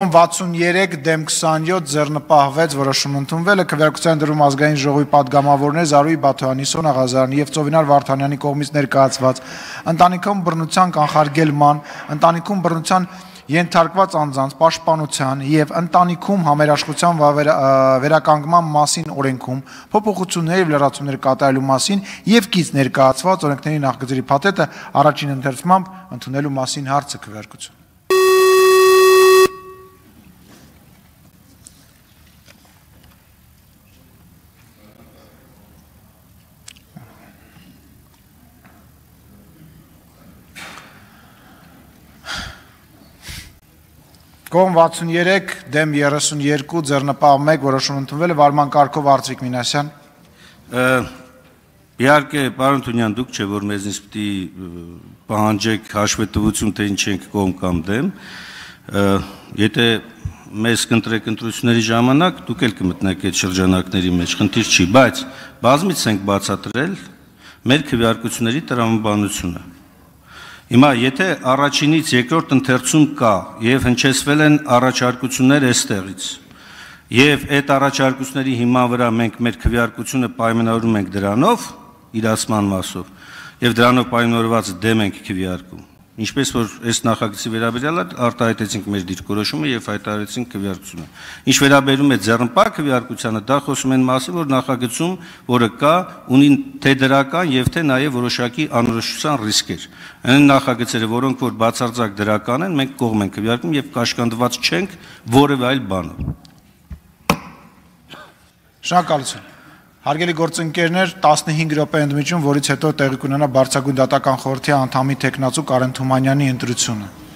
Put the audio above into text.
Կողմ 63 դեմ 27 ձեռնպահվեց, որոշում ընդունվել է քվեարկության դրում ազգային ժողովի падգամավորներ Զարուհի Բաթոյանի, Սոնա Ղազարյանի եւ Ծովինար Վարդանյանի կողմից ներկայացված ընտանիքում բռնության կանխարգելման, ընտանիքում բռնության ենթարկված անձանց պաշտպանության եւ ընտանիքում համերաշխության վերականգնման մասին օրենքում փոփոխություններ եւ լրացումներ կատարելու մասին եւ կից ներկայացված օրենքների նախագծերի փաթեթը առաջին ընթերցումամբ ընդունելու մասին հարցը քվեարկություն։ Կողմ 63 դեմ 32 ձեռնպահ 1 որոշում ընդունվել է վարման կարգով Արծվիկ Մինասյան։ Իհարկե, պարոն Թունյան, դուք չէ, որ մեզնից պիտի պահանջեք հաշվետվություն, թե ինչ ենք կողմ կամ դեմ։ Եթե մեզ կընտրեք ընտրությունների ժամանակ, դուք էլ կմտնեք այդ շրջանակների մեջ, խնդիր չի, բայց բազմից ենք բացատրել մեր քվեարկությունների տրամաբանությունը։ Հիմա, եթե առաջինից երկրորդ ընթերցում կա եւ հնչեցվել են առաջարկություններ այստեղից, եւ այդ առաջարկությունների հիման վրա մենք մեր քվեարկությունը պայմանավորում ենք դրանով, իրացման մասով, եւ դրանով պայմանավորված դեմ ենք քվեարկում, ինչպես որ այս նախագծի վերաբերյալ արտահայտեցինք մեր դիրքորոշումը եւ հայտարարեցինք քվեարկությունը։ Ինչ վերաբերում է ձեռնպահ քվեարկությանը, դա խոսում են մասին, որ նախագծում, որը կա, ունի թե դրական եւ թե նաեւ որոշակի անորոշության ռիսկեր։ Այն նախագծերը, որոնք որ բացարձակ դրական են, մենք կողմ ենք քվեարկում եւ կաշկանդված չենք որևէ այլ բանով։ Շնորհակալություն։ Հարգելի գործընկերներ, 15 րոպե ընդմիջում, որից հետո տեղի կունենա Բարձրագույն դատական խորհրդի անդամի թեկնածու Կարեն Թումանյանի ընտրությունը։